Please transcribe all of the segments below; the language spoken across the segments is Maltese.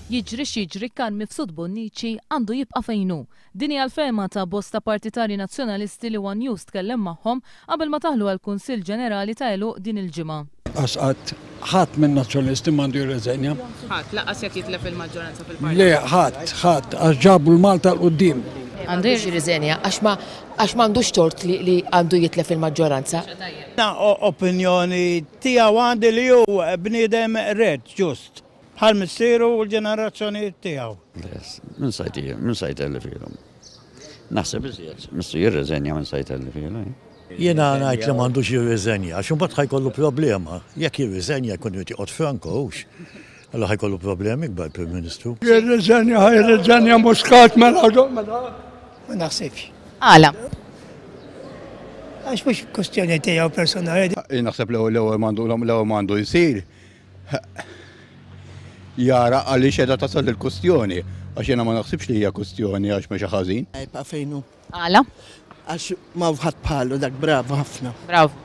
Jiġri x'jiġri Carm Mifsud Bonnici għandu jibqa' fejn hu. Din hija l-fehma ta' bosta partitarji Nazzjonalisti li one News tkellem magħhom qabel ma daħlu għall-Kunsill Ġenerali ta' għeluq din il-ġimgħa. Lanqas qatt ħadd min-Nazzjonalisti m'għandu jirreżenja. Ħadd, lanqas jekk jitlef il-maġġoranza fil-Parlament. Le, ħadd, ħadd, għax ġabu l-Malta 'l quddiem. Għandu jirriżenja għax ma għax m'għandux tort li li għandu jitlef il-maġġoranza. Jiena opinjoni tiegħu għandi li hu bniedem rett, ġust. Bħal missieru u l-ġenerazzjonijiet tiegħu. Min sa min sa jtellifilhom. Naħseb iżjed, missu jirreżenja minn sa jtellifilhom. Eh? Jiena ngħid li m'għandux jirriżenja, għax imbagħad ħa jkollu problema. Jekk jirriżenja jkun irid joqgħod franko hux. Allura ħa jkollu problemi kbar Prim Ministru. Jirriżenja, ħa jirriżenja Muscat mela mela. Ma naħsibx. Għala? Għax mhux kwestjoni tiegħu personali. Naħseb l-ewwel m'għandu l-ewwel m'għandu jsir jara għaliex qiegħda tasal il-kustjoni, għax jiena ma naħsibx li hija kustjoni għax mexa ħażin. Jibqa' fejn hu. Għala? Għax ma ħadd bħalu dak bravu ħafna. Bravu.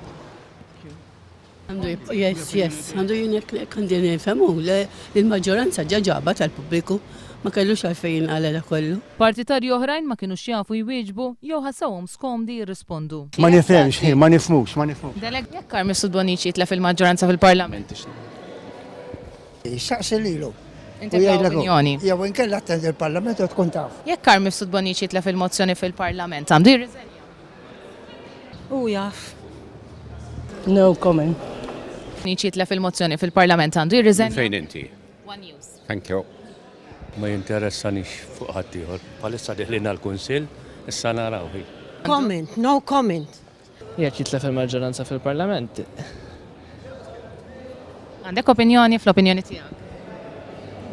Għandu jibqa' yes, yes, għandu jien għandi nifhemu li l-maġġoranza ġa ġaba tal-pubbliku ma kellux għalfejn jinqala dak kollu. Partitarji oħrajn ma kinux jafu jwieġbu jew ħassewhom skomdi jirrispondu. Ma nifhemx, hi, ma nifhmux, ma nifhmux. Deleg, jekk Carm Mifsud Bonnici jitlef il-maġġoranza fil-Parlament. Saqsi lilu. Inti ta opinjoni. Jew inkella attendi l-Parlament u tkun taf. Jekk Carm Mifsud Bonnici jitlef il-mozzjoni fil-Parlament, għandu jirriżenja? Hu jaf. No comment. Bonnici jitlef il-mozzjoni fil-Parlament, għandu jirriżenja? Fejn inti? One News. Thank you. Ma jinteressanix fuq ħaddieħor. Bħalissa deħlin għall-Kunsill, issa naraw hi. Comment, no comment. Jekk jitlef il-maġġoranza fil-Parlament. Għandek opinjoni fl-opinjoni tiegħek?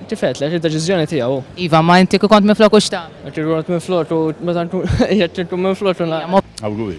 Kif għedtlek, id-deċiżjoni tiegħu. Iva, ma inti kieku kont minfloku x'tagħmel? Kieku kont minfloku, meta nkun jekk inkun minfloku na. Awguri.